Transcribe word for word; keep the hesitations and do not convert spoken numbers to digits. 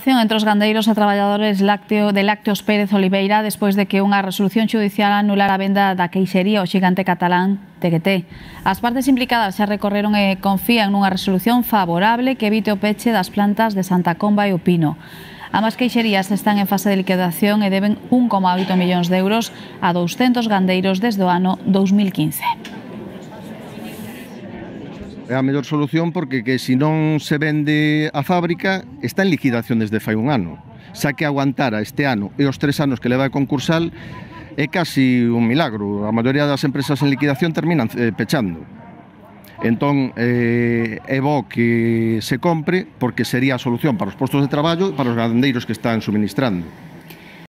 Entre os gandeiros e traballadores lácteo, de Lácteos Pérez Oliveira despois de que unha resolución judicial anulara a venda da queixería ao xigante catalán T G T. As partes implicadas xa recorreron e confían nunha resolución favorable que evite o peche das plantas de Santa Comba e o Pino. Ambas queixerías están en fase de liquidación e deben un coma oito millóns de euros a douscentos gandeiros desde o ano dous mil quince. É a mellor solución porque que se non se vende a fábrica está en liquidación desde fai un ano. Xa que aguantara este ano e os tres anos que leva a concursal é casi un milagro. A maioría das empresas en liquidación terminan eh, pechando. Entón, eh, é bo que se compre porque sería a solución para os postos de traballo e para os gandeiros que están suministrando.